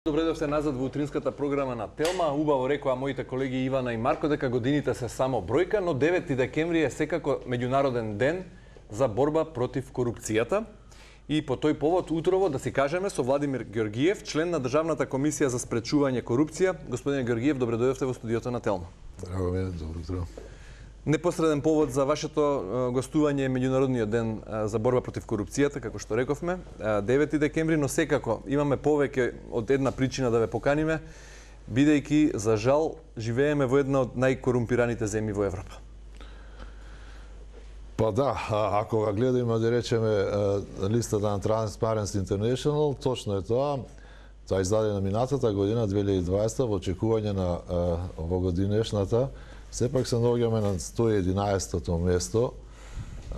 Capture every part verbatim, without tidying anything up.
Добре дојдовте назад во утринската програма на Телма. Убаво рекоа моите колеги Ивана и Марко дека годините се само бројка, но девети декември е секако меѓународен ден за борба против корупцијата. И по тој повод утрово да си кажеме со Владимир Георгиев, член на Државната комисија за спречување корупција. Господине Георгиев, добре дојдовте во студиото на Телма. Драго ми, добро утро. Непосреден повод за вашето гостување е меѓународниот ден за борба против корупцијата, како што рековме, девети декември, но секако имаме повеќе од една причина да ве поканиме, бидејќи за жал живееме во една од најкорумпираните земји во Европа. Па да, ако ga гледаме да речеме листата на Transparency International, точно е тоа. Тоа издаде на минатата година две илјади и дваесета во очекување на овогодинешната. Сепак се наоѓаме на сто и единаесетото место.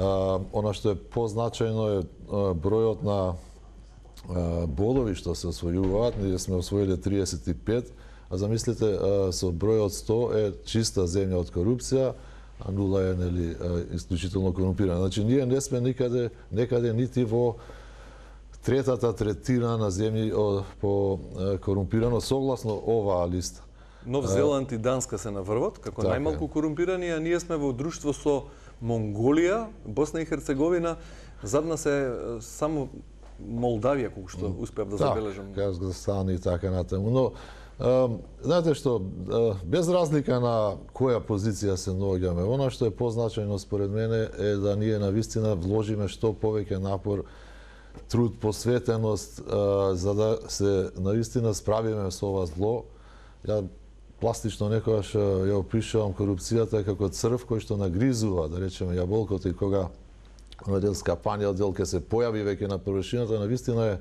Она што е позначајно е бројот на бодови што се освојуваат. Ние сме освоиле триесет и пет, а замислите со бројот сто е чиста земја од корупција, а нула е нели исклучително корумпирана. Значи ние не сме никаде некаде нити во третата третина на земји по корумпирано согласно оваа листа. Нов Зеланд и Данска се наврват како така најмалку корумпирани, а ние сме во друштво со Монголија, Босна и Херцеговина, зад нас е само Молдавија, колку што успеав да забележам. Да, Казахстан и така натаму. Но, а, знаете што, а, без разлика на која позиција се наоѓаме, она што е позначајно според мене е да ние навистина вложиме што повеќе напор, труд, посветеност, а, за да се навистина справиме со ова зло. Ја пластично некогаш ја опишувам корупцијата како црв кој што нагризува, да речеме, јаболкото, и кога на дел скапаниот дел ке се појави веќе на површината, навистина е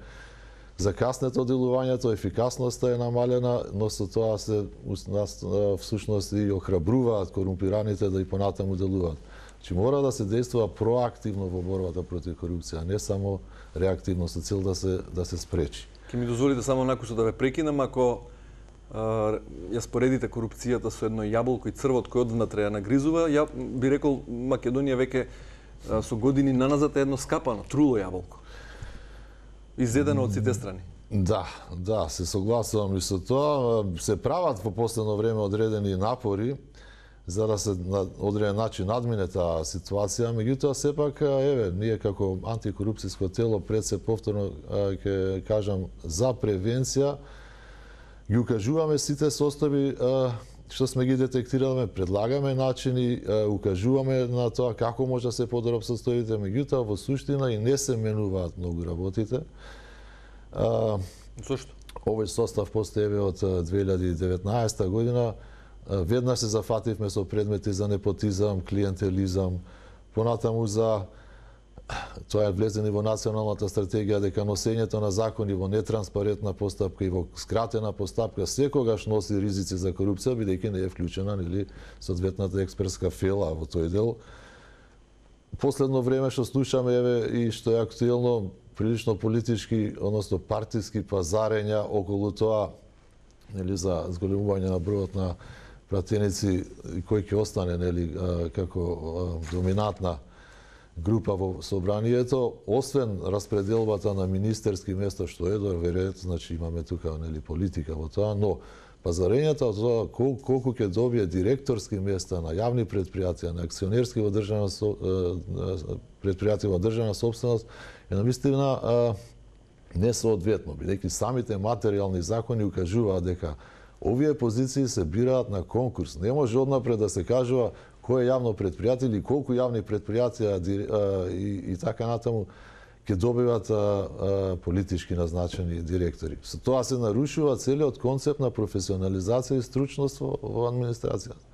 закаснето делувањето, ефикасноста е намалена, но со тоа се всушност и охрабруваат корумпираните да и понатаму делуваат. Значи мора да се действува проактивно во борбата против корупција, не само реактивно со цел да се да се спречи. Ке ми дозволите само накусо да ве прекинам, ако ја споредите корупцијата со едно јаболко и црвот кој одвнатре ја нагризува, ја би рекол Македонија веќе со години наназад е едно скапано, труло јаболко. Изедено од сите страни. Да, да, се согласувам и со тоа. Се прават во последно време одредени напори за да се на одреден начин надмине таа ситуација, меѓутоа сепак еве ние како антикорупцијско тело пред се повторно ќе кажам за превенција ги укажуваме сите состојби што сме ги детектирале, предлагаме начини, укажуваме на тоа како може да се подобрат состојбите, меѓутоа во суштина и не се менуваат многу работите. Зошто? Овој состав постои од две илјади и деветнаесета година. Веднаш се зафативме со предмети за непотизам, клиентелизам, понатаму за тоа е влезено во националната стратегија дека носењето на закони во нетранспарентна постапка и во скратена постапка секогаш носи ризици за корупција, бидејќи не е вклучена нели соодветната експертска фела во тој дел. Последно време што слушаме еве и што е актуелно, прилично политички, односно партиски пазарења околу тоа нели за зголемување на бројот на пратеници кој ќе остане нели како доминантна група во собранието, освен распределбата на министерски места, што е доверет, значи имаме тука нели политика во тоа, но пазарењето од тоа кол, колку ќе добие директорски места на јавни предпријатија, на акционерски во државна предпријатија во државна собственост е навистина несоодветно, бидејќи самите материјални закони укажуваат дека овие позиции се бираат на конкурс. Не може однапред да се кажува кој е јавно предпријатие или колку јавни предпријатија и, и така натаму ќе добиват а, а, политички назначени директори. Со тоа се нарушува целиот концепт на професионализација и стручност во, во администрацијата.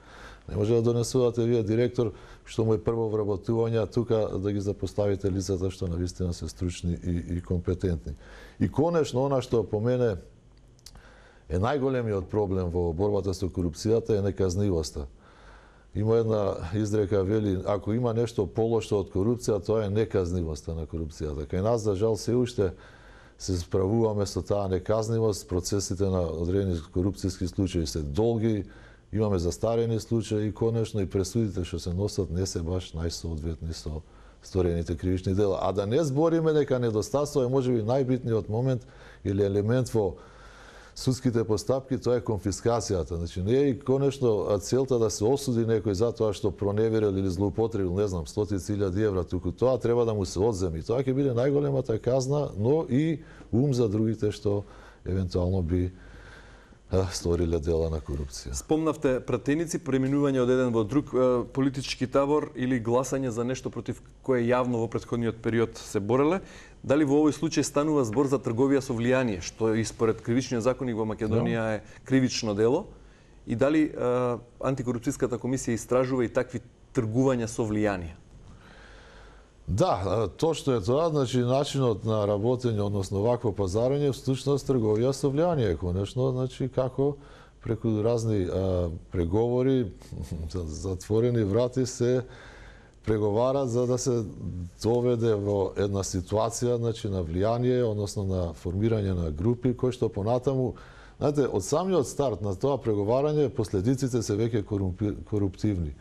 Не може да донесувате вие директор што му е прво вработување, тука да ги запоставите лицата што навистина се стручни и, и компетентни. И конечно, она што по мене е најголемиот проблем во борбата со корупцијата е неказнивоста. Има една изрека, вели, ако има нешто полошо од корупција, тоа е неказнивоста на корупцијата. Кај нас, за жал, се уште се справуваме со таа неказнивост, процесите на одредени корупцијски случаи се долги, имаме застарени случаи и конечно и пресудите што се носат не се баш најсоодветни со сторените кривични дела. А да не збориме дека недостатство е можеби најбитниот момент или елемент во судските постапки, тоа е конфискацијата. Значи не е и конечно целта да се осуди некој за тоа што проневерил или злоупотребил, не знам, стотици илјади евра, туку тоа треба да му се одземи. Тоа ќе биде најголемата казна, но и ум за другите што евентуално би сториле дела на корупција. Спомнавте пратеници, преминување од еден во друг политички табор или гласање за нешто против кое јавно во претходниот период се бореле. Дали во овој случај станува збор за трговија со влијание, што и според кривичниот законник во Македонија е кривично дело? И дали а, антикорупцијската комисија истражува и такви тргувања со влијание? Да, точно е тоа, значи начинот на работење, односно вакво пазарење, всушност трговија со влијание, конечно, значи како преку разни а, преговори, затворени врати се преговарат за да се доведе во една ситуација, значи на влијание, односно на формирање на групи кои што понатаму, знаете, од самиот старт на тоа преговарање последиците се веќе коруптивни.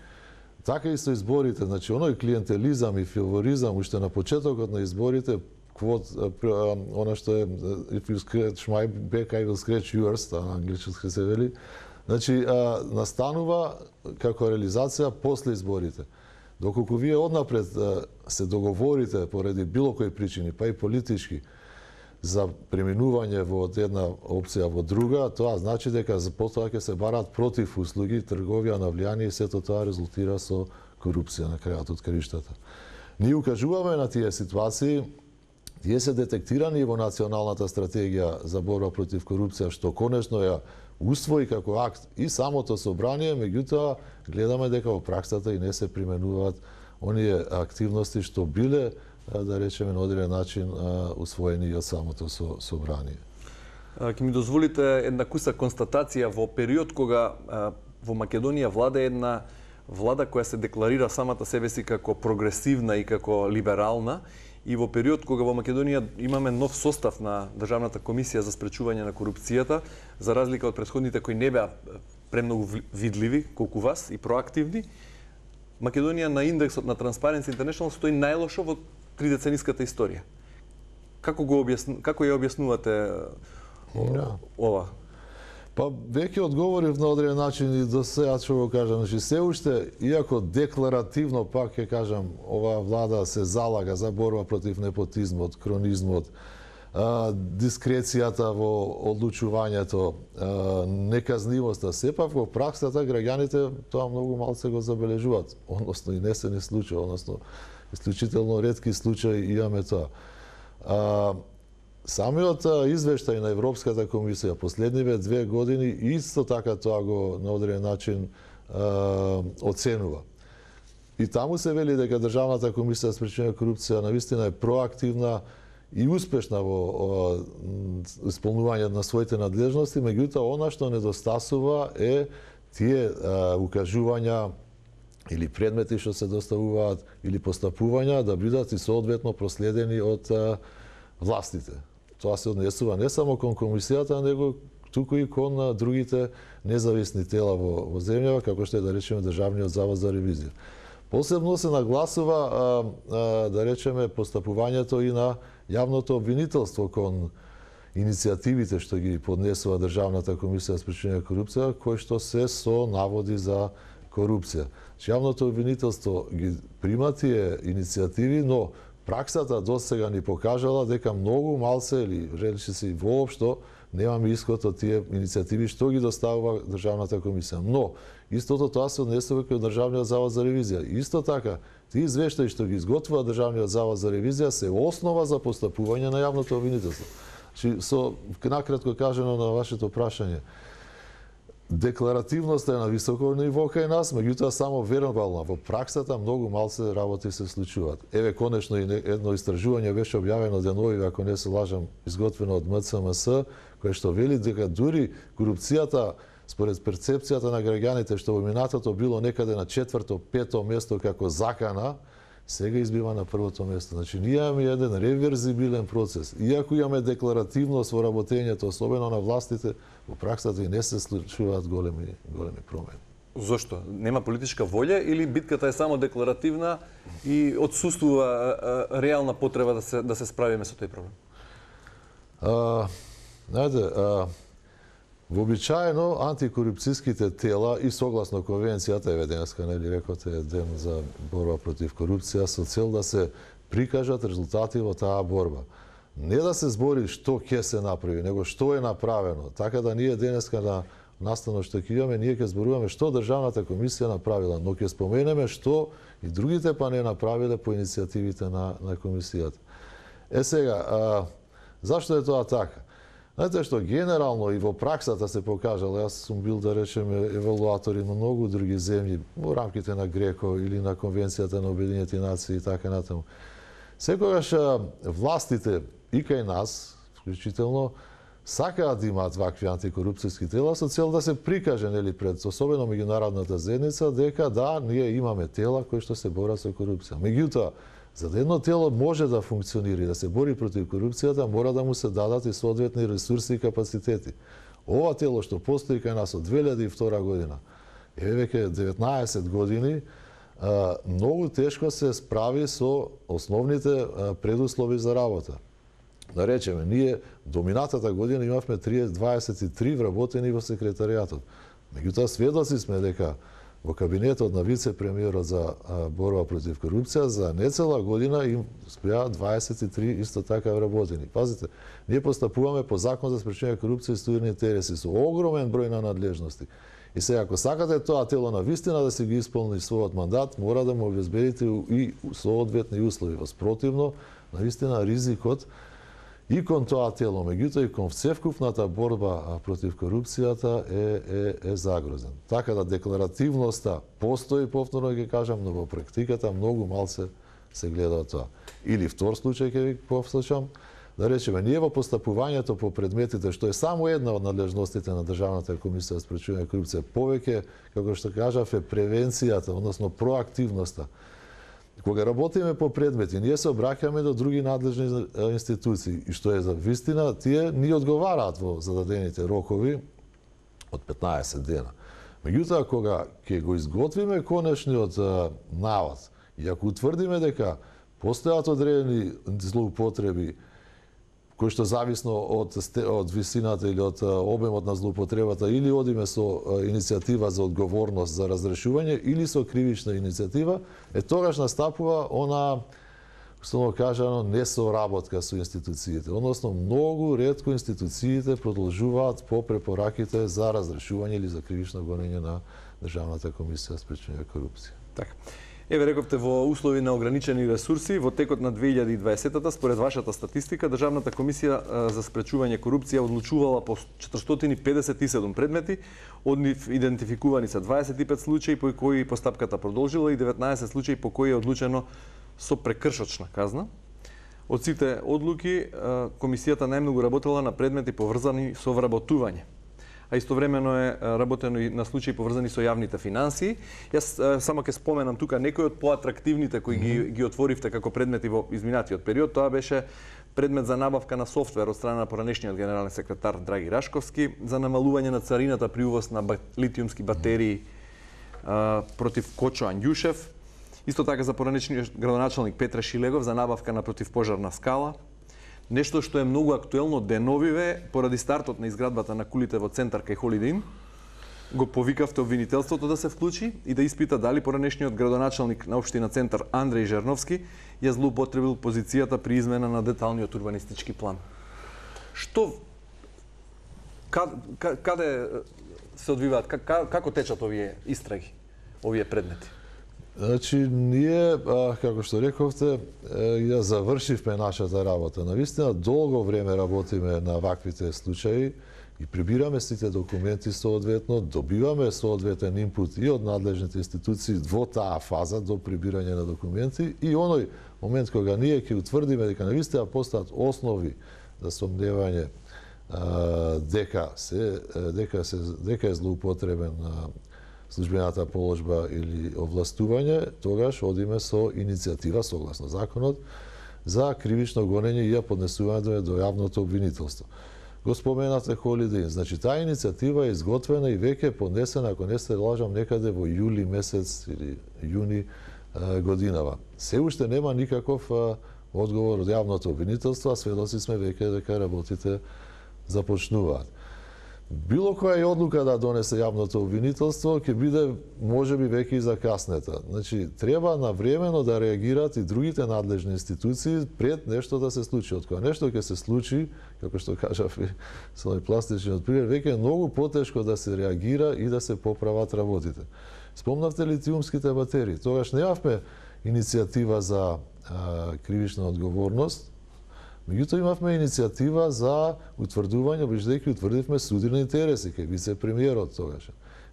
Така и со изборите, значи оној клиентелизам и фаворизам уште на почетокот на изборите, квот, она што е if you scratch my back, I will scratch yours, на англички се вели, значи а, настанува како реализација после изборите. Доколку вие однапред а, се договорите поради било кои причини, па и политички, за преминување во една опција во друга, тоа значи дека потоа ќе се барат против услуги, трговија на влијание и сето тоа резултира со корупција на крајот од краиштата. Ние укажуваме на тие ситуации, тие се детектирани во националната стратегија за борба против корупција, што конечно ја усвои како акт и самото собрание, меѓутоа гледаме дека во праксата и не се применуваат оние активности што биле, да речеме, на одреден начин усвоени од самото собрание. Ќе ми дозволите една куса констатација во период кога во Македонија влада една влада која се декларира самата себе си како прогресивна и како либерална, и во период кога во Македонија имаме нов состав на Државната комисија за спречување на корупцијата, за разлика од претходните кои не беа премногу видливи колку вас и проактивни, Македонија на индексот на Transparency International стои најлошо во тридецениската историја. Како го објасну, како ја објаснувате да. ова? Па веќе одговорив на одреден начин и до сега што го кажам, значи се уште, иако декларативно пак ќе кажам, оваа влада се залага за борба против непотизмот, кронизмот, а, дискрецијата во одлучувањето, а, неказнивоста, сепак во праксата граѓаните тоа многу малце го забележуваат, односно и не се не случува, односно исклучително ретки случаи имаме тоа. А, самиот извештај на Европската комисија последниве две години исто така тоа го на одреден начин а, оценува. И таму се вели дека Државната комисија за спречување на корупција навистина е проактивна и успешна во исполнување на своите надлежности, меѓутоа она што недостасува е тие а, укажувања или предмети што се доставуваат или постапувања да бидат и соодветно проследени од а, властите. Тоа се однесува не само кон комисијата, него туку и кон а, другите независни тела во, во земјава, како што е да речеме Државниот завод за ревизија. Посебно се нагласува а, а, да речеме постапувањето и на јавното обвинителство кон иницијативите што ги поднесува Државната комисија за спречување на корупција, кои што се со наводи за корупција. Јавното обвинителство ги прима тие иницијативи, но праксата до сега ни покажала дека многу малце или речи се воопшто немаме исход од тие иницијативи што ги доставува Државната комисија. Но истото тоа се однесува кај Државниот завод за ревизија. Исто така, тие извештаи што ги изготвува Државниот завод за ревизија се основа за постапување на јавното обвинителство. Значи, со накратко кажано на вашето прашање, декларативноста е на високо ниво кај нас, меѓутоа само вербална. Во праксата многу малце работи се случуваат. Еве конечно и едно истражување беше објавено денови, ако не се лажам, изготвено од М Ц М С, кое што вели дека дури корупцијата според перцепцијата на граѓаните што во минатото било некаде на четврто, пето место како закана, сега избива на првото место. Значи, ние имаме еден реверзибилен процес. Иако имаме декларативност во работењето, особено на властите, во праксата и не се случуваат големи, големи промени. Зошто? Нема политичка волја или битката е само декларативна и отсуствува реална потреба да се, да се справиме со тој проблем? А, знаете, а, Вообичаено антикорупцијските тела и согласно конвенцијата, еве денеска нели рекоте ден за борба против корупција, со цел да се прикажат резултати во таа борба. Не да се збори што ќе се направи, него што е направено. Така да ние денеска на наставно што ќе имаме, ние ќе зборуваме што Државната комисија направила, но ќе споменеме што и другите па не направиле по иницијативите на, на комисијата. Е сега, а, зашто е тоа така? Знаете што, генерално и во праксата се покажало, јас сум бил, да речеме, евалуатори на многу други земји, во рамките на Греко или на Конвенцијата на Обединетите нации и така натаму. Секогаш властите и кај нас, вклучително, сакаат да имаат вакви антикорупцијски тела со цел да се прикаже, нели, пред особено меѓународната заедница дека да, ние имаме тела кои што се борат со корупција. Меѓутоа, за да едно тело може да функционира и да се бори против корупцијата, мора да му се дадат и соодветни ресурси и капацитети. Ова тело што постои кај нас од две илјади и втора година, еве веќе деветнаесет години, многу тешко се справи со основните предуслови за работа. Да речеме, ние до минатата година имавме дваесет и три вработени во секретаријатот. Меѓутоа, сведоци сме дека во кабинетот на вице-премиерот за борба против корупција за нецела година им спреа дваесет и три исто така вработени. Пазите, ние постапуваме по закон за спречување корупција и студени интереси со огромен број на надлежности. И сега, ако сакате тоа тело на вистина да се ги исполни својот мандат, мора да му обезбедите и соодветни услови. Воспротивно, на вистина ризикот и кон тоа тело, меѓутоа и кон вцевкупната борба против корупцијата е, е, е загрозен. Така да декларативноста постои, повторно ќе кажам, но во практиката многу малце се гледа тоа. Или втор случај ќе ви повслушам, да речеме, ние во постапувањето по предметите, што е само една од надлежностите на Државната комисија за спречување корупција, повеќе, како што кажав, е превенцијата, односно проактивноста. Кога работиме по предмети, ние се обраќаме до други надлежни институции и што е за вистина, тие ни одговараат во зададените рокови од петнаесет дена. Меѓутоа, кога ќе го изготвиме конечниот навод и ако утврдиме дека постојат одредени злоупотреби кои што зависно од, од висината или од обемот на злоупотребата, или одиме со иницијатива за одговорност за разрешување, или со кривична иницијатива, е тогаш настапува она, што кажано, несоработка со институциите. Односно, многу ретко институциите продолжуваат по препораките за разрешување или за кривично гонење на Државната комисија за спречување корупција. Така. Еве рековте, во услови на ограничени ресурси, во текот на две илјади и дваесета, според вашата статистика, Државната комисија за спречување корупција одлучувала по четиристотини педесет и седум предмети, од нив идентификувани се дваесет и пет случаи по кои постапката продолжила и деветнаесет случаи по кои е одлучено со прекршочна казна. Од сите одлуки, комисијата најмногу работела на предмети поврзани со вработување, а истовремено е работено и на случаи поврзани со јавните финансии. Јас само ќе споменам тука некои од поатрактивните кои ги, ги отворивте како предмети во изминатиот период. Тоа беше предмет за набавка на софтвер од страна на поранешниот генерален секретар Драги Рашковски за намалување на царината при увоз на литиумски батерии а, против Кочо Анѓушев. Исто така за поранешниот градоначалник Петре Шилегов за набавка на противпожарна скала. Нешто што е многу актуелно деновиве, поради стартот на изградбата на кулите во центар кај Холидей Ин, го повикавте обвинителството да се вклучи и да испита дали поранешниот градоначалник на општина Центар Андреј Жерновски ја злоупотребил позицијата при измена на деталниот урбанистички план. Што каде, каде се одвиваат, како течат овие истраги, овие предмети? Значи, ние, како што рековте, ја завршивме нашата работа. Навистина, долго време работиме на ваквите случаи и прибираме сите документи соодветно, добиваме соодветен инпут и од надлежните институции во таа фаза до прибирање на документи и оној момент кога ние ќе утврдиме дека навистина постојат основи за сомневање дека се дека се дека е злоупотребен службената положба или овластување, тогаш одиме со иницијатива согласно законот за кривично гонење и ја поднесување до јавното обвинителство. Го споменате Холидей Ин. Значи, таа иницијатива е изготвена и веќе поднесена, ако не се лажам, некаде во јули месец или јуни годинава. Се уште нема никаков одговор од јавното обвинителство, а сведоци сме веќе дека работите започнуваат. било која и одлука да донесе јавното обвинителство ќе биде можеби веќе и закаснета. Значи треба навремено да реагираат и другите надлежни институции пред нешто да се случи. Од кога нешто ќе се случи, како што кажав со овој пластичниот пример, веќе е многу потешко да се реагира и да се поправат работите. Спомнавте литиумските батерии. Тогаш немавме иницијатива за а, кривична одговорност. Меѓутоа имавме иницијатива за утврдување, бидејќи утврдивме судирни интереси кај вице-премиерот тогаш.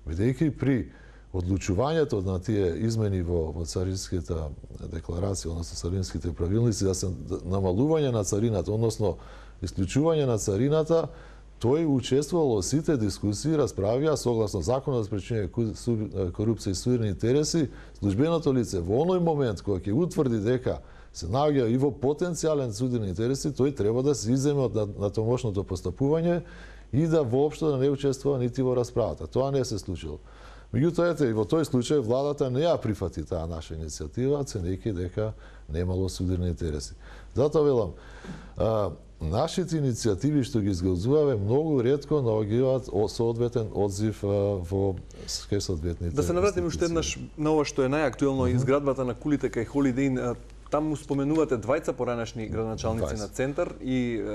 Бидејќи при одлучувањето на тие измени во, во царинската декларација, односно царинските правилници, да се намалување на царината, односно исклучување на царината, тој учествувал во сите дискусии, расправија согласно законот за спречување корупција и судирни интереси, службеното лице во оној момент кога ќе утврди дека се наоѓа и во потенцијален судирни интереси, тој треба да се иземе од натамошното постапување и да воопшто да не учествува нити во расправата. Тоа не се случило. Меѓутоа, ете, и во тој случај владата не ја прифати таа наша иницијатива, ценејќи дека немало судирни интереси. Затоа велам, а, нашите иницијативи што ги изготвуваме многу ретко наоѓаат соодветен одзив а, во кај соодветните. Да се навратиме уште еднаш на ова што е најактуелно, mm-hmm. изградбата на кулите кај Холидеин. Таму споменувате двајца поранешни градоначалници на центар и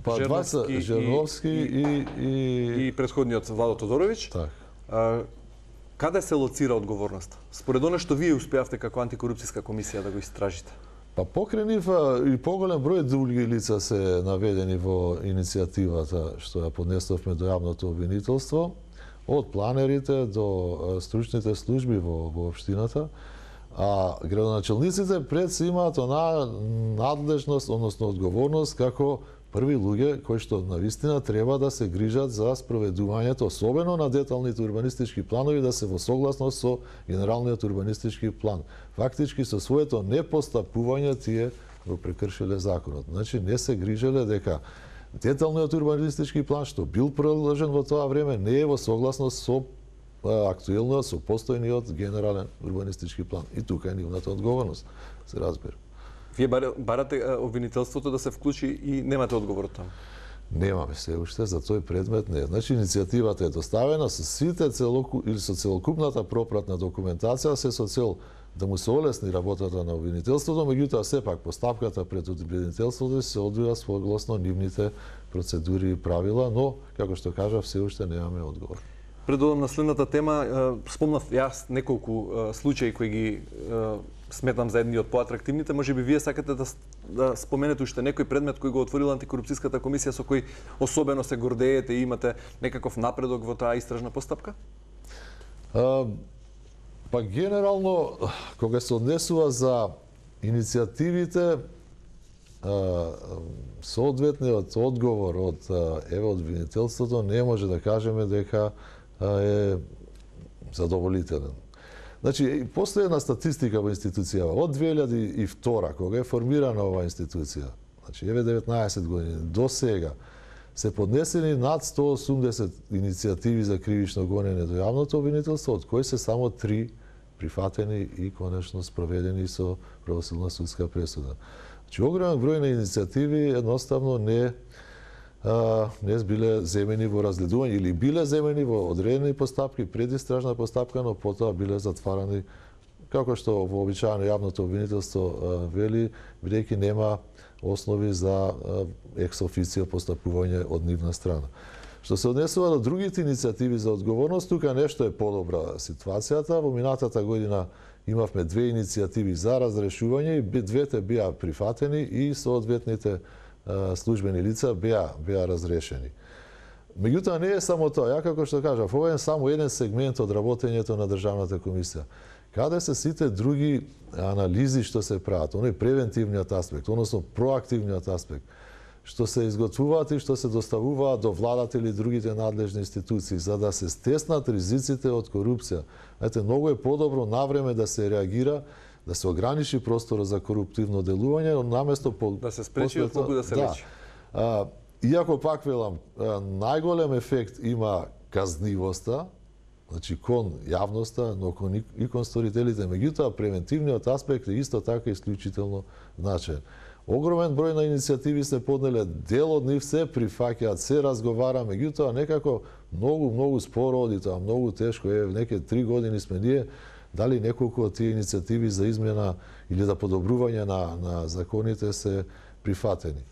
па двајца Жерновски и, и, и, и предходниот Владо Тодорович. Так. А, каде се лоцира одговорноста? Според оно што вие успеавте како антикорупцијска комисија да го истражите? Па покрај нив и поголем број други лица се наведени во иницијативата што ја поднесовме до јавното обвинителство, од планерите до стручните служби во, во општината. А градоначалниците пред се имаат онаа надлежност, односно одговорност како први луѓе кои што навистина треба да се грижат за спроведувањето, особено на деталните урбанистички планови, да се во согласност со генералниот урбанистички план. Фактички со своето непостапување тие го прекршиле законот. Значи не се грижеле дека деталниот урбанистички план што бил приложен во тоа време не е во согласност со актуелниот, со постојниот генерален урбанистички план. И тука е нивната одговорност, се разбира. Вие барате обвинителството да се вклучи и немате одговор од таму? Немаме се уште, за тој предмет не. Значи, иницијативата е доставена со сите целоку, или со целокупната пропратна документација, се со цел да му се олесни работата на обвинителството, меѓутоа сепак постапката пред обвинителството се одвива согласно нивните процедури и правила, но, како што кажав, се уште немаме одговор. Пред одам на следната тема, спомнав јас неколку случаи кои ги сметам за едни од поатрактивните. Може би вие сакате да, да споменете уште некој предмет кој го отворила антикорупцијската комисија со кој особено се гордеете и имате некаков напредок во таа истражна постапка? А, па генерално, кога се однесува за иницијативите, соодветниот одговор од еве од обвинителството не може да кажеме дека е задоволителен. Значи, постои една статистика во институцијава. Од две илјади и втора, кога е формирана оваа институција, значи еве деветнаесет години, до сега, се поднесени над сто осумдесет иницијативи за кривично гонење до јавното обвинителство, од кои се само три прифатени и конечно спроведени со правосудна судска пресуда. Значи, огромен број на иницијативи едноставно не а, не биле земени во разгледување или биле земени во одредени постапки, предистражна постапка, но потоа биле затварани, како што вообичаено јавното обвинителство вели, бидејќи нема основи за екс официо постапување од нивна страна. Што се однесува до другите иницијативи за одговорност, тука нешто е подобра ситуацијата. Во минатата година имавме две иницијативи за разрешување и двете беа прифатени и соодветните службени лица беа беа разрешени. Меѓутоа не е само тоа, ја како што кажав, ова е само еден сегмент од работењето на државната комисија. Каде се сите други анализи што се прават, оној превентивниот аспект, односно проактивниот аспект, што се изготвуваат и што се доставуваат до владата или другите надлежни институции за да се стеснат ризиците од корупција. Ете, многу е подобро навреме да се реагира, да се ограничи просторот за коруптивно делување, наместо по да се спречи од многу да се речи. Да. Иако пак велам, најголем ефект има казнивоста, значи кон јавноста, но кон и кон сторителите, меѓутоа превентивниот аспект е исто така исклучително значаен. огромен број на иницијативи се поднеле, дел од нив се прифаќаат, се разговара, меѓутоа некако многу, многу споро оди тоа, многу тешко е, неке три години сме ние, дали неколку од тие иницијативи за измена или за подобрување на, на законите се прифатени.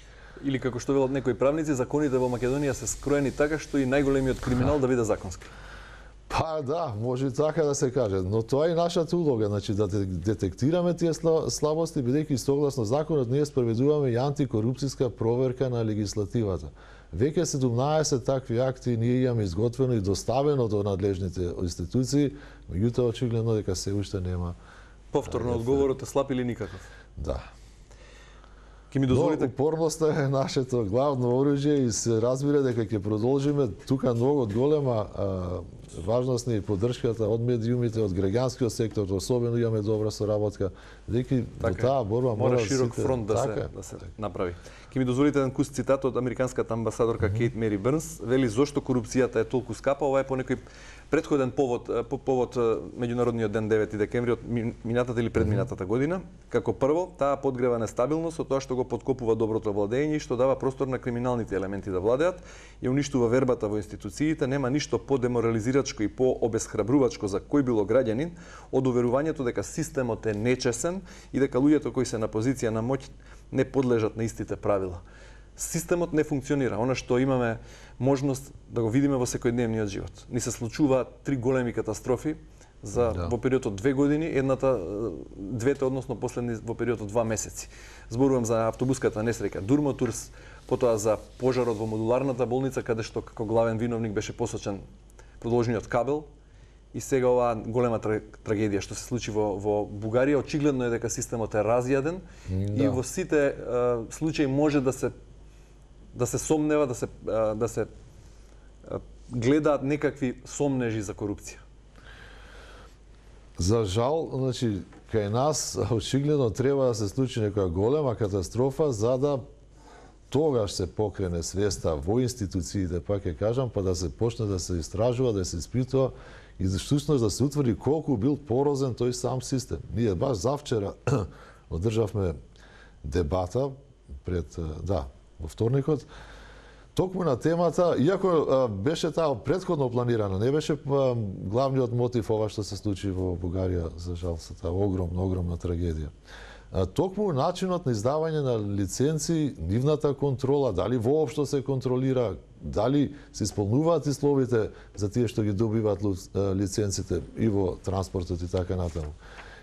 Или како што велат некои правници, законите во Македонија се скроени така што и најголемиот криминал да биде законски. Па да, може и така да се каже, но тоа е нашата улога, значи да детектираме тие слабости, бидејќи согласно законот ние спроведуваме и антикорупцијска проверка на легислативата. Веќе седумнаесет такви акти ние имаме изготвено и доставено до надлежните институции, меѓутоа очигледно дека се уште нема. Повторно одговорот е слаб или никаков? Да. Ке ми дозволите... Но упорноста е нашето главно оружје и се разбира дека ќе продолжиме. Тука многу голема а, важност и поддршката од медиумите, од граѓанскиот сектор, особено имаме добра соработка. Дека во таа борба мора мора широк сите... фронт да така, се да се направи. Ке ми дозволите еден кус цитат од американската амбасадорка mm -hmm. Кейт Мери Бернс, вели зошто корупцијата е толку скапа, ова е по некој претходен повод, по повод меѓународниот ден девети декември од минатата или предминатата година. Како прво, таа подгрева нестабилност од тоа што го подкопува доброто владење и што дава простор на криминалните елементи да владеат, ја уништува вербата во институциите, нема ништо подеморализирачко и пообесхрабрувачко за кој било граѓанин од уверувањето дека системот е нечесен и дека луѓето кои се на позиција на моќ не подлежат на истите правила. Системот не функционира. Она што имаме можност да го видиме во секојдневниот живот. Ни се случуваат три големи катастрофи за да. Во период од две години, едната двете односно последни во период од два месеци. Зборувам за автобуската несреќа Дурмотурс, потоа за пожарот во модуларната болница каде што како главен виновник беше посочен продолжниот кабел и сега оваа голема трагедија што се случи во, во Бугарија. Очигледно е дека системот е разјаден да. И во сите а, случаи може да се да се сомнева, да се да се гледаат некакви сомнежи за корупција. За жал, значи кај нас очигледно треба да се случи некоја голема катастрофа за да тогаш се покрене свеста во институциите, па ќе кажам, па да се почне да се истражува, да се испитува и всушност да се утврди колку бил порозен тој сам систем. Ние баш завчера одржавме дебата пред да во вторникот, токму на темата, иако а, беше таа претходно планирана, не беше а, главниот мотив ова што се случи во Бугарија, за жал, се таа огромна, огромна трагедија. А, токму начинот на издавање на лиценци, нивната контрола, дали воопшто се контролира, дали се исполнуваат условите за тие што ги добиваат лиценците и во транспортот и така натаму.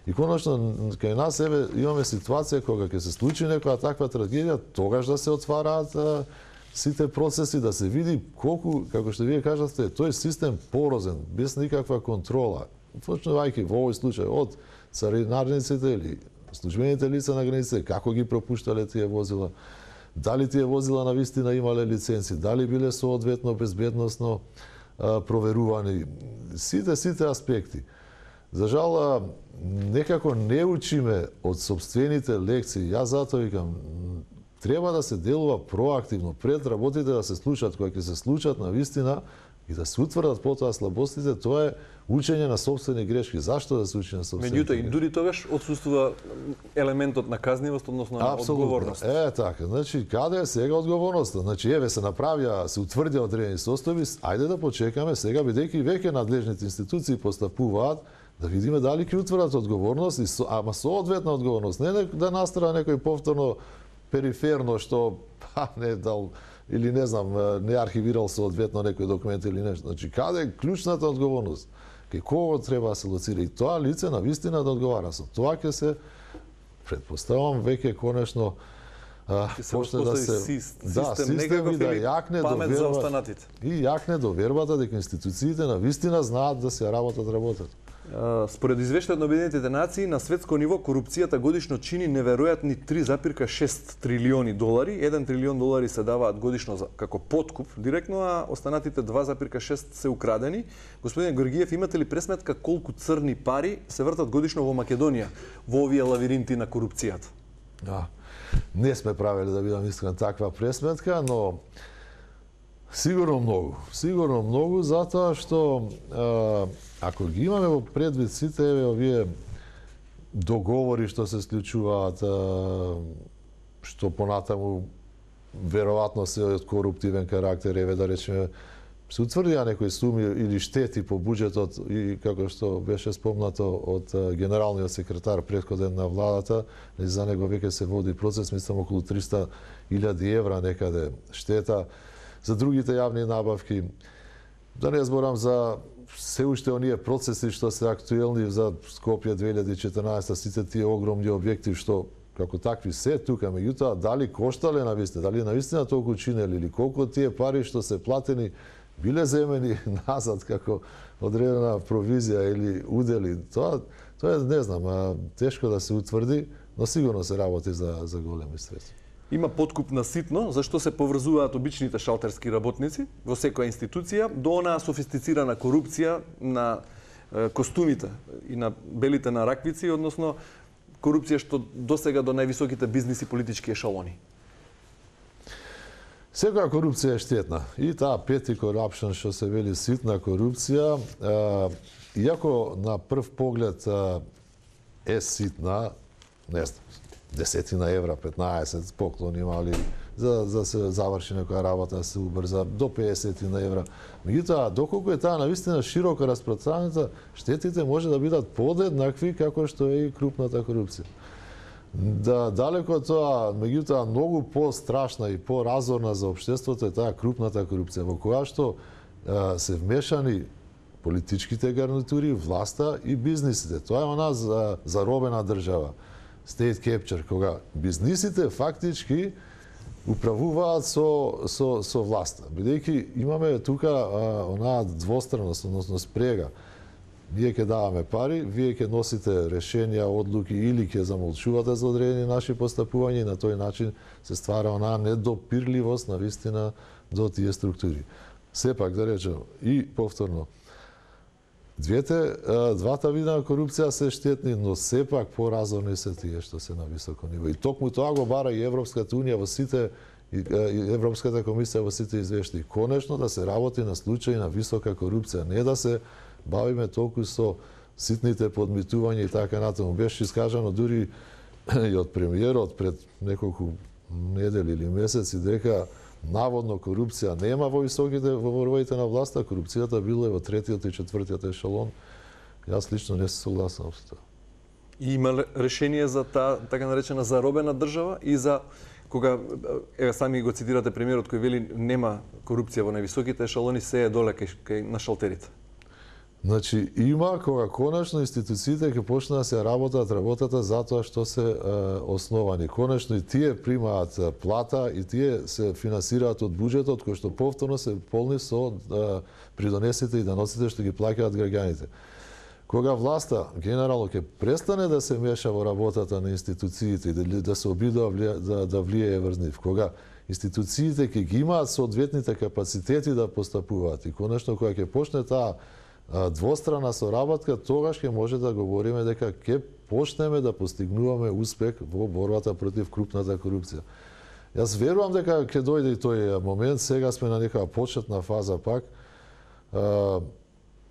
И конечно, кај нас еве имаме ситуација кога ќе се случи некоја таква трагедија, тогаш да се отвараат а, сите процеси, да се види колку, како што вие кажавте, тој систем порозен, без никаква контрола. Почнувајќи во овој случај од царинарниците или службените лица на границите, како ги пропуштале тие возила, дали тие возила навистина имале лиценци, дали биле соодветно безбедносно а, проверувани, сите сите аспекти. За жал, некако не учиме од собствените лекции. Јас затоа викам, треба да се делува проактивно, пред работите да се случат, кога ќе се случат на вистина и да се утврдат потоа слабостите, тоа е учење на собствени грешки. Зашто да се учи на собствени грешки? Меѓутоа и дури тогаш отсуствува елементот на казнивост, односно на одговорност. Е, така. Значи, каде е сега одговорноста? Значи, еве се направија, се утврдија одредени состојби, ајде да почекаме сега, бидејќи веќе надлежните институции постапуваат, да видиме дали ќе утврдат одговорност, и со, ама соодветна одговорност, не да настара некој повторно периферно што па не дал или не знам, не архивирал соодветно некој документ или нешто. Значи, каде е клучната одговорност? Кај кого треба да се лоцира и тоа лице на вистина да одговара. Со тоа ќе се претпоставам веќе конечно а, почне да се систем, да, систем да јакне до памет за останатите. И јакне до вербата дека институциите на вистина знаат да се работат работат. Според извештајот на Обединетите нации, на светско ниво корупцијата годишно чини неверојатни три зарем шест трилиони долари. еден трилион долари се даваат годишно за, како подкуп директно, а останатите два зарем шест се украдени. Господин Георгиев, имате ли пресметка колку црни пари се вртат годишно во Македонија во овие лавиринти на корупцијата? Да. Не сме правили, да бидам искрен, таква пресметка, но сигурно многу. Сигурно многу, затоа што а, ако ги имаме во предвид сите еве овие договори што се склучуваат, а, што понатаму веројатно се од коруптивен карактер, еве да речеме, се утврдија некои суми или штети по буџетот и како што беше спомнато од генералниот секретар претходен на владата, за него веќе се води процес, мислам околу триста илјади евра некаде штета. За другите јавни набавки, да не зборам за се уште оние процеси што се актуелни за Скопје две илјади и четрнаесета, сите тие огромни објекти што како такви се тука, меѓутоа дали коштале навистина, дали навистина толку чинели или колку тие пари што се платени биле земени назад како одредена провизија или удели, тоа тоа не знам, а, тешко да се утврди, но сигурно се работи за за големи средства. Има подкуп на ситно, зашто се поврзуваат обичните шалтерски работници во секоја институција до онаа софистицирана корупција на е, костумите и на белите на раквици, односно корупција што досега до највисоките бизнис и политички ешалони. Секоја корупција е штетна. И таа пети corruption што се вели ситна корупција, е, иако на прв поглед е ситна, не знам, десетина евра, петнаесет поклони имали за за се заврши некоја работа, да се убрза до песетина евра. Меѓутоа, доколку е таа навистина широко распространета, штетите може да бидат подеднакви како што е и крупната корупција. Да, далеко од тоа, меѓутоа, многу по-страшна и по-разорна за општеството е таа крупната корупција, во која што а, се вмешани политичките гарнитури, власта и бизнисите. Тоа е она за, заробена држава. State capture, кога бизнисите фактички управуваат со, со, со власта. Бидејќи имаме тука а, онаа двостранност, односно спрега. Вие ќе даваме пари, вие ќе носите решенија, одлуки или ќе замолчувате за одредени наши постапувања и на тој начин се ствара онаа недопирливост на вистина до тие структури. Сепак да речем и повторно, двете, двата вида на корупција се штетни, но сепак поразорни се тие што се на високо ниво. И токму тоа го бара и Европската унија во сите и Европската комисија во сите извештаи. Конечно да се работи на случаи на висока корупција, не да се бавиме толку со ситните подмитувања и така натаму. Беше искажано дури и од премиерот пред неколку недели или месеци дека наводно корупција нема во високите во врвовите на власта, корупцијата била во третиот и четвртиот ешелон. Јас лично не се согласувам со тоа. И има решение за таа така наречена заробена држава и за кога еве сами го цитирате премиерот кој вели нема корупција во највисоките ешелони, се е доле кај, кај на шалтерите. Значи, има кога конечно институциите ќе почнат да се работат работата затоа што се е, основани. Конечно и тие примаат плата и тие се финансираат од буџетот кој што повторно се полни со е, придонесите и даноците што ги плаќаат граѓаните. Кога власта генерално ќе престане да се меша во работата на институциите и да, да се обидува да, да влијае врз нив, кога институциите ќе ги имаат соодветните капацитети да постапуваат и конечно кога ќе почне таа двострана соработка, тогаш ќе може да говориме дека ќе почнеме да постигнуваме успех во борбата против крупната корупција. Јас верувам дека ќе дојде и тој момент, сега сме на некоја почетна фаза пак.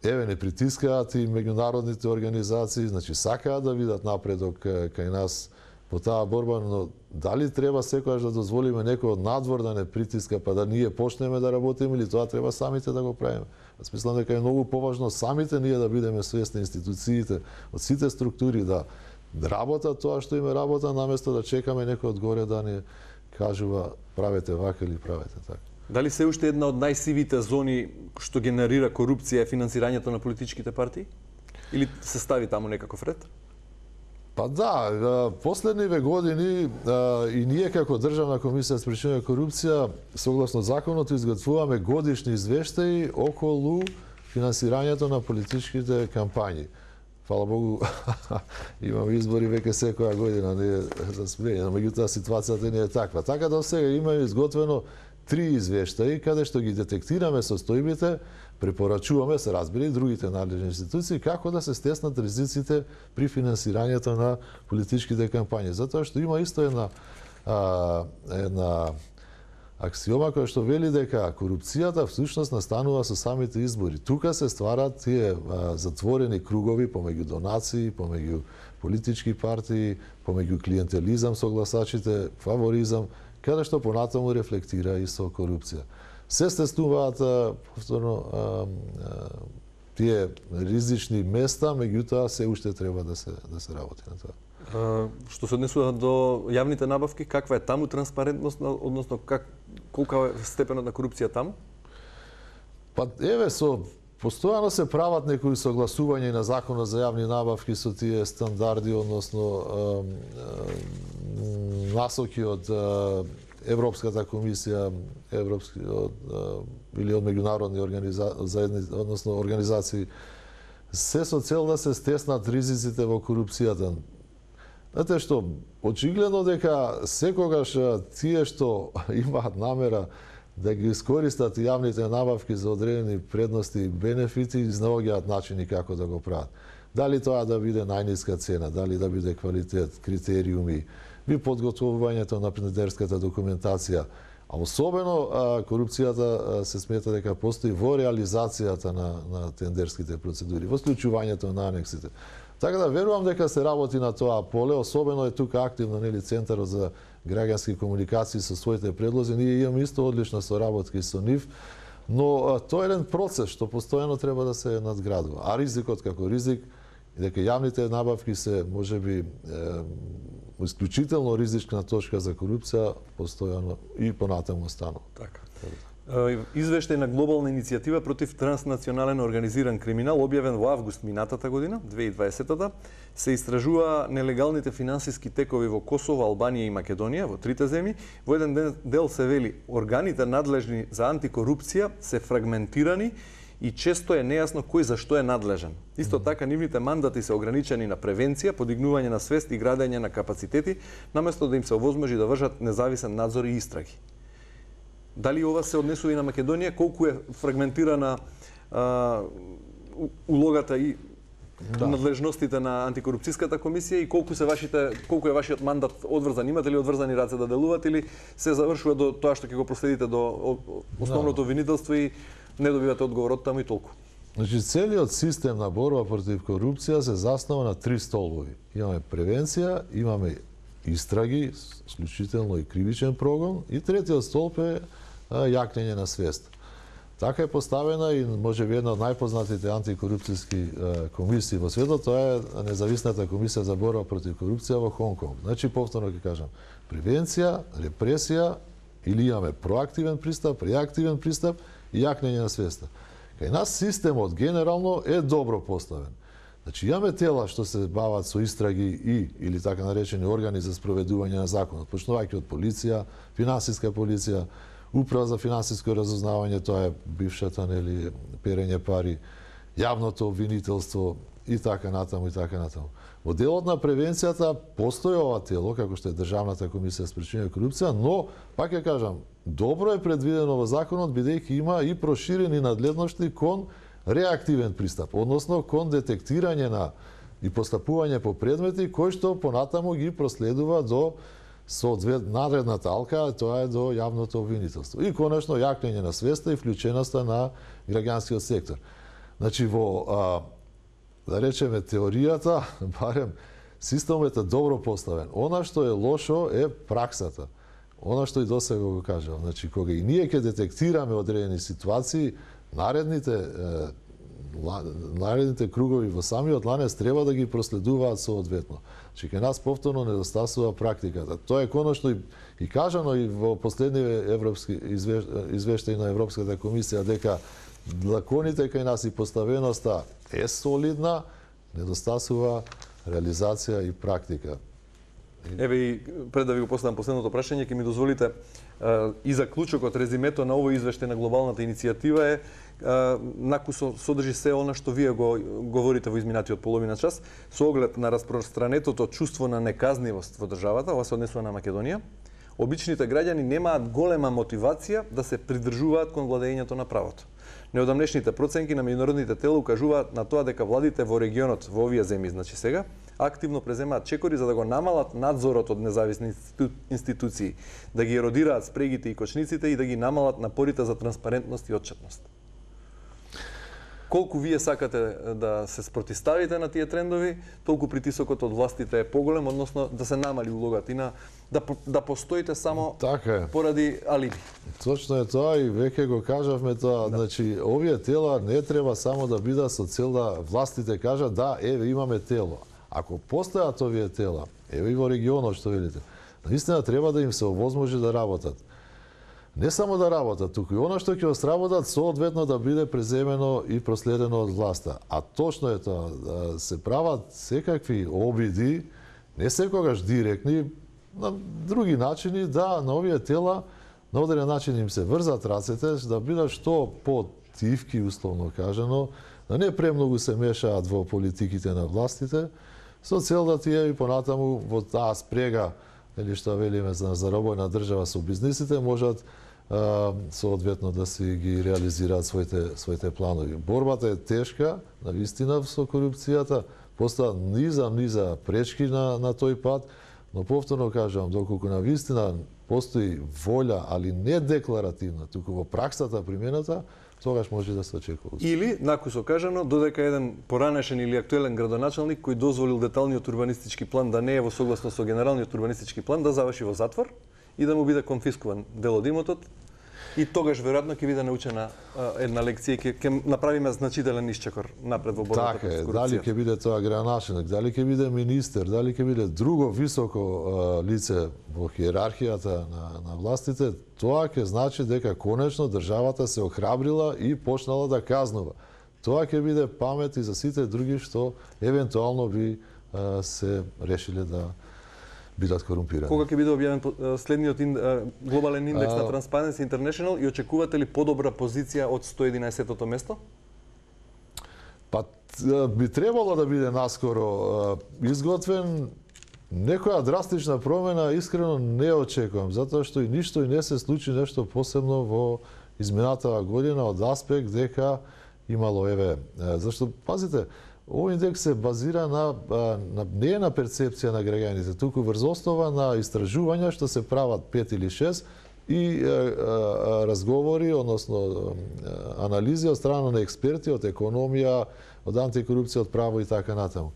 Еве не притискаат и меѓународните организации, значи сакаат да видат напредок кај нас по таа борба, но дали треба секогаш да дозволиме некој од надвор да не притиска па да ние почнеме да работиме или тоа треба самите да го правиме? Јас мислам дека е многу поважно самите ние да бидеме свесни, институциите, од сите структури да работат тоа што име работа, наместо да чекаме некој одгоре да ни кажува правете вака или правете така. Дали се уште една од најсивите зони што генерира корупција е финансирањето на политичките партии? Или се стави таму некаков ред? Па да, последниве години и ние како Државна комисија за спречување корупција согласно законот изготвуваме годишни извештаи околу финансирањето на политичките кампањи. Фала Богу, имаме избори веќе секоја година, не е за смење, но меѓутоа ситуацијата не е таква. Така да сега имаме изготвено три извештаи каде што ги детектираме состојбите, препорачуваме, се разбира и другите надлежни институции, како да се стеснат ризиците при финансирањето на политичките кампањи. Затоа што има исто една, а, една аксиома која што вели дека корупцијата всушност настанува со самите избори. Тука се стварат тие а, затворени кругови помеѓу донации, помеѓу политички партии, помеѓу клиентелизам со гласачите, фаворизам, каде што понатаму рефлектира и со корупција. Се стеснуваат повторно тие ризични места, меѓутоа се уште треба да се да се работи на тоа. А, што се однесува до јавните набавки, каква е таму транспарентност, односно как колка е степенот на корупција таму? Па еве со постојано се прават некои согласувања на законот за јавни набавки со тие стандарди, односно насоки од Европската комисија, европски од, или од меѓународни организации, односно организации, се со цел да се стеснат ризиците во корупцијата. Знаете што, очигледно дека секогаш тие што имаат намера да ги искористат јавните набавки за одредени предности и бенефити, изнаоѓаат начини како да го прават. Дали тоа да биде најниска цена, дали да биде квалитет, критериуми, би подготвувањето на тендерската документација, а особено а, корупцијата а, се смета дека постои во реализацијата на, на тендерските процедури, во склучувањето на анексите. Така да верувам дека се работи на тоа поле, особено е тука активно нели Центарот за граѓански комуникации со своите предлози. Ние имаме исто одлична соработка со нив, но а, тоа е еден процес што постојано треба да се надградува. А ризикот како ризик, дека јавните набавки се можеби е, исклучително ризична точка за корупција, постојано и понатаму останува. Така. Извештај на глобална иницијатива против транснационален организиран криминал, објавен во август минатата година, две илјади и дваесета, се истражува нелегалните финансиски текови во Косово, Албанија и Македонија, во трите земји. Во еден дел се вели, органите надлежни за антикорупција се фрагментирани и често е нејасно кој за што е надлежен. Исто така, нивните мандати се ограничени на превенција, подигнување на свест и градење на капацитети, наместо да им се овозможи да вршат независен надзор и истраги. Дали ова се однесува и на Македонија? Колку е фрагментирана а, улогата и да. надлежностите на антикорупцијската комисија и колку се вашите колку е вашиот мандат одврзан? Имате ли одврзани раце да делувате или се завршува до тоа што ќе го проследите до основното да. обвинителство и не добивате одговор од таму и толку? Значи, целиот систем на борба против корупција се заснова на три столбови. Имаме превенција, имаме истраги, исклучително и кривичен прогон, и третиот столб е јакнење на свест. Така е поставена и може би една од најпознатите антикорупцијски комисии во светот, тоа е независната комисија за борба против корупција во Хонг Конг. Значи, повторно ќе кажам, превенција, репресија, или имаме проактивен пристап, реактивен пристап и јакнење на свеста. Кај нас системот генерално е добро поставен. Значи, имаме тела што се бават со истраги и, или така наречени органи за спроведување на законот, почнувајќи од полиција, финансиска полиција, Управа за финансиско разузнавање, тоа е бившата, нели, перење пари, јавното обвинителство и така натаму и така натаму. Во делот на превенцијата постои ова тело, како што е Државната комисија за спречување корупција, но, пак ја кажам, добро е предвидено во законот, бидејќи има и проширени надледности кон реактивен пристап, односно кон детектирање на и постапување по предмети кои што понатаму ги проследува до соодвет наредната алка, тоа е до јавното обвинителство. И конечно јакнење на свеста и вклученоста на граѓанскиот сектор. Значи во а, да речеме теоријата, барем системот е добро поставен. Она што е лошо е праксата. Она што и досега го кажав. Значи кога и ние ќе детектираме одредени ситуации, наредните наредните кругови во самиот ланец треба да ги проследуваат соодветно. Значи, кај нас повторно недостасува практиката. Тоа е конечно и, и кажано и во последниве европски извеш, извештаи на Европската комисија дека законите кај нас и поставеноста е солидна, недостасува реализација и практика. Еве и пред да ви го поставам последното прашање, ќе ми дозволите и заклучокот, резимето на овој извештај на глобалната иницијатива е накусо содржи се она што вие го говорите во изминатиот половина час, со оглед на распространетото чувство на неказнивост во државата, ова се однесува на Македонија, обичните граѓани немаат голема мотивација да се придржуваат кон владењето на правото. Неодамнешните проценки на меѓународните тела укажуваат на тоа дека владите во регионот во овие земји, значи сега, активно преземаат чекори за да го намалат надзорот од независни институции, да ги еродираат спрегите и кочниците и да ги намалат напорите за транспарентност и отчетност. Колку вие сакате да се спротиставите на тие трендови, толку притисокот од властите е поголем, односно да се намали улогата и на да да постоите само така е. Поради алиби. Точно е тоа и веќе го кажавме тоа. Да. Значи, овие тела не треба само да бидат со цел да властите кажат да, еве имаме тело. Ако постојат овие тела, еве и во регионот што велите, наистина треба да им се овозможи да работат. Не само да работат, туку и она што ќе сработат соодветно да биде преземено и проследено од власта. А точно е тоа, да се прават секакви обиди, не секогаш директни, на други начини да на овие тела на одреден начин им се врзат рацете, да бидат што по-тивки, условно кажано, да не премногу се мешаат во политиките на властите, со цел да тие и понатаму во таа спрега, или што велиме за заробојна држава со бизнисите, можат а, соодветно да си ги реализираат своите своите планови. Борбата е тешка, навистина со корупцијата, постојат низа низа пречки на на тој пат, но повторно кажувам, доколку навистина постои волја, али не декларативна, туку во праксата примената, тогаш може да се очекува. Или, накусо кажано, додека еден поранешен или актуелен градоначалник кој дозволил деталниот урбанистички план да не е во согласно со генералниот урбанистички план, да заврши во затвор и да му биде конфискуван дел од имотот, и тогаш веројатно ќе биде научена а, една лекција и ќе, ќе направиме значителен исчекор напред во борбата така против е, корупцијата. дали ќе биде тоа градоначалник, дали ќе биде министер, дали ќе биде друго високо а, лице во хиерархијата на, на властите, тоа ќе значи дека конечно државата се охрабрила и почнала да казнува. Тоа ќе биде памет и за сите други што евентуално би а, се решиле да бидат корумпирани. Кога ќе биде објавен следниот ин, глобален индекс а... на Transparency International и очекувате ли подобра позиција од сто единаесеттото место? Па би требало да биде наскоро изготвен. Некоја драстична промена искрено не очекувам, затоа што и ништо и не се случи нешто посебно во изминатава година од аспект дека имало еве, зашто пазите, овој индекс се базира на, на не е на перцепција на граѓаните, туку врз основа на истражувања што се прават пет или шест и е, е, разговори, односно анализи од страна на експерти од економија, од антикорупција, од право и така натаму.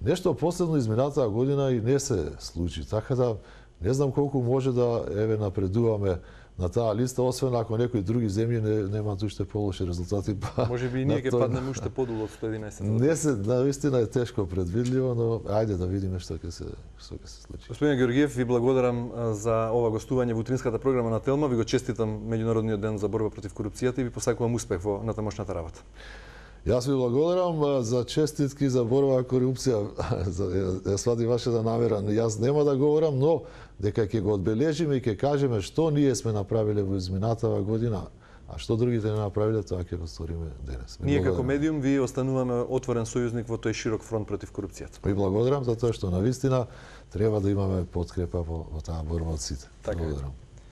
Нешто посебно изминатава година и не се случи, така да не знам колку може да еве напредуваме на таа листа, освен ако некои други земји не немаат уште полоши резултати. Па, може би и ние ќе паднеме уште подолу од сто единаесет. Не се, навистина е тешко предвидливо, но ајде да видиме што ќе се што ќе се случи. Господин Георгиев, ви благодарам за ова гостување во утринската програма на Телма. Ви го честитам меѓународниот ден за борба против корупцијата и ви посакувам успех во натамошната работа. Јас ви благодарам за честитки за борба корупција. Ја свади вашата намера. Јас нема да говорам, но дека ќе го одбележиме и ќе кажеме што ние сме направиле во изминатава година, а што другите не направиле, тоа ќе го сториме денес. Ние како медиум ви остануваме отворен сојузник во тој широк фронт против корупцијата. Ви благодарам за тоа што навистина треба да имаме подкрепа во, во таа борба од сите. Така. Благодарам.